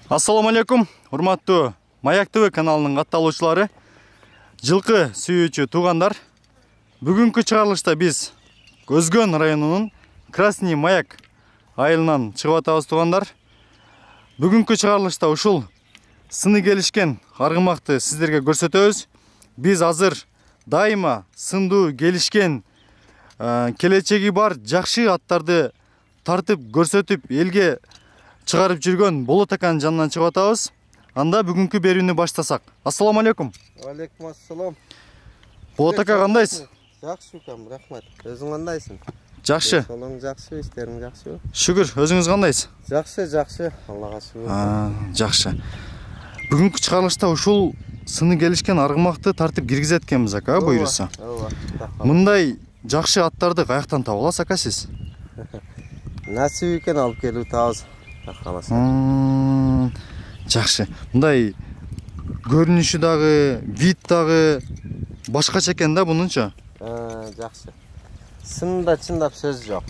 Ассаламу алейкум, урматтуу Маяк ТВ каналынын катталуучулары, жылкы сүйүүчү туугандар. Бүгүнкү чыгарылышта биз Көзгөн районунун Красный Маяк айылынан чыгып атабыз туугандар. Бүгүнкү чыгарылышта ушул сыны келишкен аргымакты сиздерге көрсөтөбүз. Биз азыр дайыма сындуу келишкен, келечеги бар жакшы аттарды тартып көрсөтүп элге чыгарып жүргөн Болот аканын жанынан чыгып атабыз. Анда бүгүнкү берүүнү баштасак. Ассаламу алейкум. Алейкум ассалам. Болот ака кандайсыз? Жакшы укам, рахмат. Өзүң кандайсың? Жакшы. Солоң жакшы, иштериң жакшыбы? Шүгүр, өзүңүз кандайсыз? Жакшы, Аллага шүгүр. Жакшы. Бүгүнкү чыгарылышта ушул сыны келишкен аргымакты тартып киргизет экенбиз ака, буйруса. Ооба. Мындай жакшы аттарды каяктан таба аласыз ака сиз? Насип экен алып келип атабыз. Жакшы. Мындай көрүнүшү дагы, вид дагы башкача экен да бунунча. Жакшы. Сында чындап сөз жок.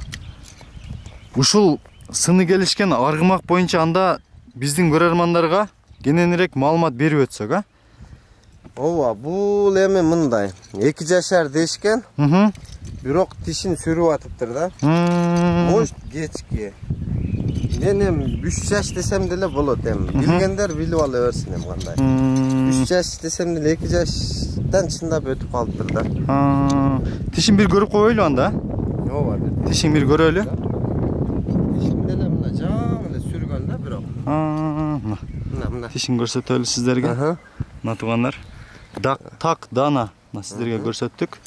Ушул сыны келишкен аргымак боюнча анда биздин көрөрмандарга кененирээк маалымат берип өтсөк, а? Ооба, бул эми мындай. 2 жашар дешкен. Бирок тишин сүрүп атыптыр да. Может, кечки. Мен эми 3 жаш десем деле болот эми. Билгендер билип ала берсин эми кандай. 3 жаш десем деле 2 жаштан чындап өтүп калыптыр да. Тишин бир көрүп койбойлу анда? Ооба, бир. Тишин бир көрөлү. Тишин деле мына жаңы эле сүргөн да бирок. Мына. Тишин көрсөтөлү сиздерге. Мына туугандар. Так дана сиздерге көрсөттүк.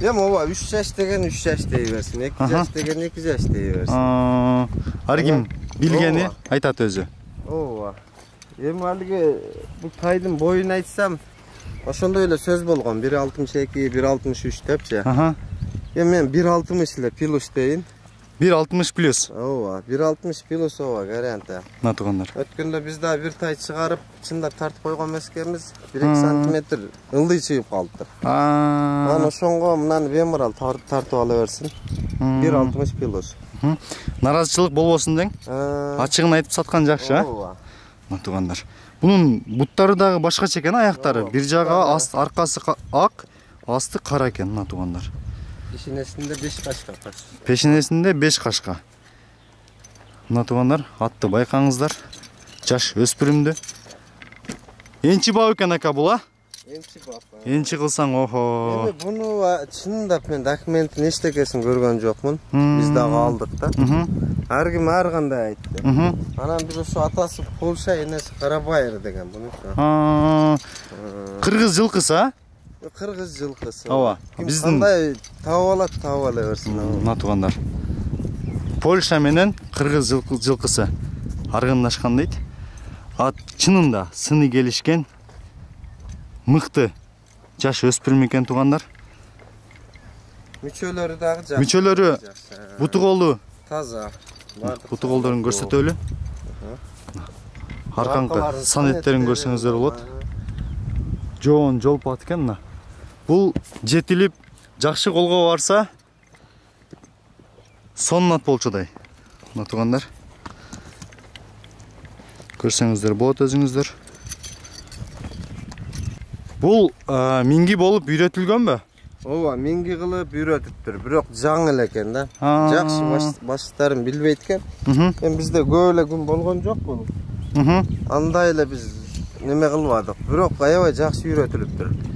Эми ооба 3 жаш деген 3 жаш дей берсин, 2 жаш деген 2 жаш дей берсин. Ар ким билгени айтат өзү. Ооба. Эми алиги бул тайдын боюн айтсам, ошондой эле сөз болгон. 1.62, 1.63 депчи. Эми мен 1.60 эле плюс дейин. 1.60 плюс. Ооба, 1.60 плюс ооба варианты. Мына туугандар. Өткөндө биз да бир тай чыгарып, чындап тартып койгон эмескенбиз. 1-2 сантиметр ылдый чыгып калыптыр. Анан ошонго мынаны беморал тартып ала берсин. 1.60 плюс. Наразычылык болбосун дең. Ачыгын айтып саткан жакшы, а? Ооба. Мына туугандар. Бунун буттары дагы башкача экен, аяктары. Бир жагы аркасы ак, асты кара экен, мына туугандар. Пешенесинде 5 кашка. Пешенесинде 5 кашка. Мына туугандар, атты байкаңыздар. Жаш өспүрүмдү. Энчи бап экен ака бул, а? Энчи бап. Энчи кылсаң, охо. Эми буну чындап мен документтин эчтекесин көргөн жокмун. Биз дагы алдык да. Ар ким ар кандай айтты. Анан биз ошо атасы Польша, энеси Карабайыр деген буну. Кыргыз жылкысы, а? Кыргыз жылкысы. Ооба. Биздин кандай таап ала берсин. Мына туугандар. Польша менен кыргыз жылкысы аргындашкан дейт. Ат чынында сыны келишкен мыкты жаш өспүрүм экен туугандар. Мүчөлөрү дагы жакшы. Мүчөлөрү буту колу таза. Буту колдорун көрсөтөлү. Аркаңкы санеттерин көрсөңүздөр болот. Жоон жолпат экен мына. Бул жетилип жакшы колго барса соннат болчудай. Мына туугандар. Көрсөңүздөр болот өзүңүздөр. Бул минги болуп үйрөтүлгөнбү? Ооба, минги кылып үйрөтүптүр, бирок жаңы эле экен да. Жакшы баштарын билбейт экен. Эми бизде көп эле күн болгон жок бул. Андай эле биз неме кылбадык, бирок аябай жакшы үйрөтүлүптүр.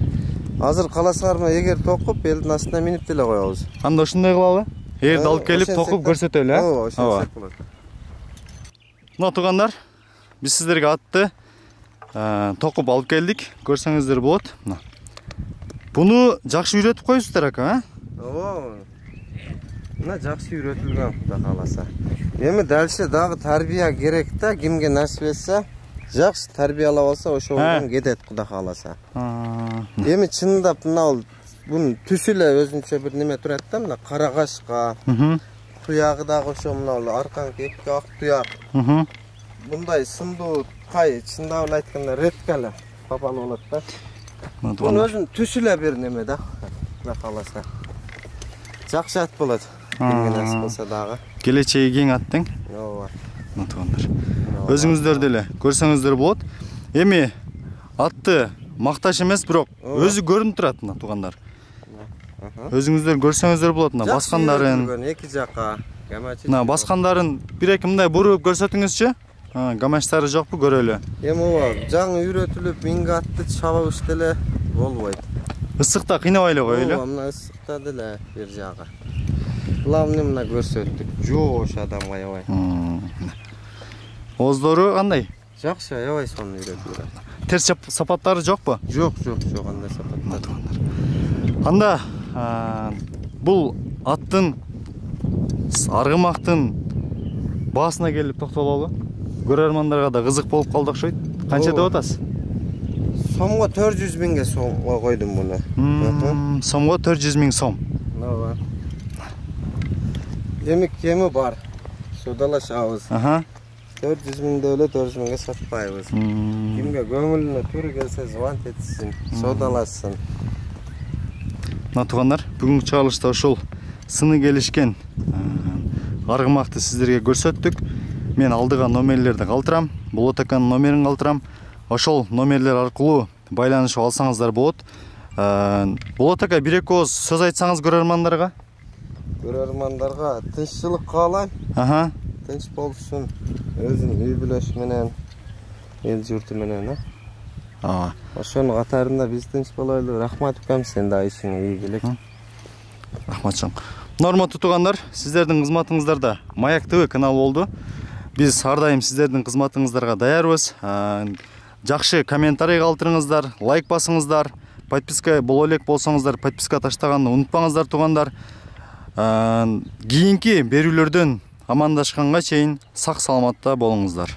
Азыр каласыңарбы, эгер токуп элдин астына минип деле коебуз. Анда ушундай кылалы. Эгерде алып келип токуп көрсөтөлү, а? Ооба, ошентсек болот. Мына туугандар, биз сиздерге атты токуп алып келдик. Көрсөңүздөр болот. Мына. Буну жакшы үйрөтүп коюпсуздар ака, а? Ооба. Мына жакшы үйрөтүлгөн, Кудай кааласа. Эми дальше дагы тарбия керек да, кимге насип этсе, жакшы тарбиялап алса, ошондон кетет, Кудай кааласа. Эми чындап мына бунун түсү эле өзүнчө бир неме турат да, мына кара кашка. Туягы дагы ошо мына аркаңкы эки ак туяк. Мындай сындуу тай, чындап эле айтканда редко эле папан болот да. Бунун өзүнүн түсү эле бир неме да, Кудай кааласа. Жакшы ат болот. Кимге насип кылса дагы. Келечеги кең ат тең. Ооба. Мына туугандар. өзүңүздөр деле көрсөңүздөр болот. Эми атты макташ эмес, бирок өзү көрүнүп турат мына туугандар. Өзүңүздөр көрсөңүздөр болот мына баскандарын. Эки жака гамачы. Мына баскандарын бир-эки мындай буруп көрсөтүңүзчү. Гамачтары жокпу, көрөлү. Эми ооба жаңы үйрөтүлүп минге атты чабабыш деле болбойт. Ысыкта кыйнабай эле коелу. Ооба, мына ысыкта деле бир жагы. Главный мына көрсөттүк. Жоош адамга аябай. Ооздору кандай? Жакшы, аябай сонун үйрөтүлгөн. Терс сапаттары жокпу? Жок, андай сапаттар. Анда бул аттын аргымактын баасына келип токтололу. Көрөрмандарга да кызык болуп калды окшойт. Канча деп атасыз? Сомго 400 миңге сомго койдум буну. Сомго 400 миң сом. Ооба. Кеми бар. Содалашабыз. 400 миңде эле 400 миңге сатпайбыз. Кимге көңүлүнө туру келсе звонт этсин, содалашсын. Мына туугандар, бүгүнкү чыгарылышта ушул сыны келишкен аргымакты сиздерге көрсөттүк. Мен алдыга номерлерди калтырам, Болотаканын номерин калтырам. Ошол номерлер аркылуу байланышып алсаңыздар болот. Болотака бир-эки ооз сөз айтсаңыз көрөрмандарга? Көрөрмандарга тынччылык каалайм. Тынч болсун, өзүнүн үй бүлөсү менен, эл журту менен, ошонун катарында биз тынч болойлу. Рахмат укам, сен да ишиңе ийгилик. Рахмат чоң. Урматтуу туугандар, сиздердин кызматыңыздарда Маяк ТВ каналы болду. Биз ар дайым сиздердин кызматыңыздарга даярбыз. Жакшы комментарий калтырыңыздар, лайк басыңыздар. Подписка боло элек болсоңуздар, подписка таштаганды унутпаңыздар туугандар. Кийинки берүүлөрдөн амандашканга чейин сак саламатта болуңуздар.